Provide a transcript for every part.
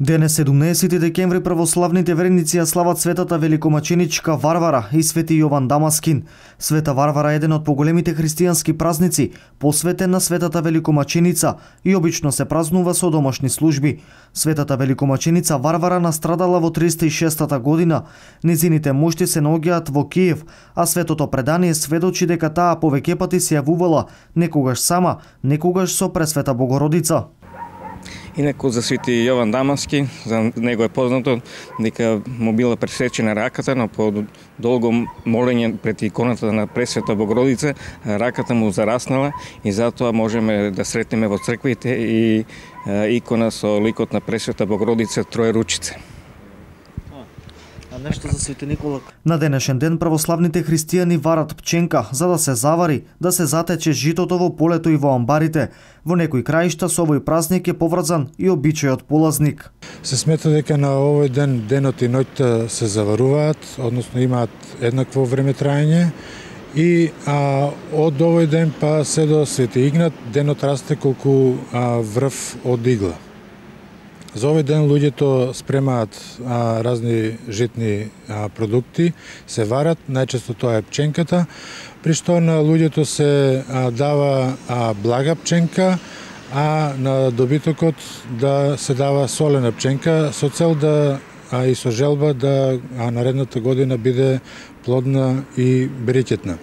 Денес 17 декември православните верници ја слават светата великомаченичка Варвара и свети Јован Дамаскин. Света Варвара е еден од поголемите христијански празници, посветен на светата великомаченица и обично се празнува со домашни служби. Светата великомаченица Варвара настрадала во 306 година. Незините мошти се наоѓаат во Киев, а светото предание сведочи дека таа повеќе пати се јавувала, некогаш сама, некогаш со Пресвета Богородица. Инаку за свети Јован Дамаски, за него е познато дека му била пресечена раката, но по долго молење пред иконата на Пресвета Богородица, раката му зараснала и затоа можеме да сретнеме во црквите и икона со ликот на Пресвета Богородица Троеручице. Нешто за Свети Никола. На денешен ден православните христијани варат пченка за да се завари, да се затече житото во полето и во амбарите. Во некои краишта со овој празник е поврзан и обичајот полазник. Се смета дека на овој ден денот и ноќта се заваруваат, односно имаат еднакво време траење и од овој ден па се до Свети Игнат денот расте колку врв од игла. За овој ден луѓето спремаат разни житни продукти, се варат, најчесто тоа е пченката, при што на луѓето се дава блага пченка, а на добитокот да се дава солена пченка со цел да и со желба да наредната година биде плодна и берекетна.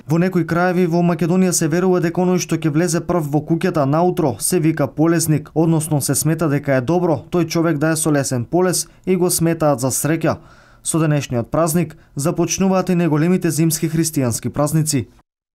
Во некои краеви во Македонија се верува дека оној што ќе влезе прв во куќата наутро се вика полесник, односно се смета дека е добро тој човек да е со лесен полес и го сметаат за среќа. Со денешниот празник започнуваат и најголемите зимски христијански празници.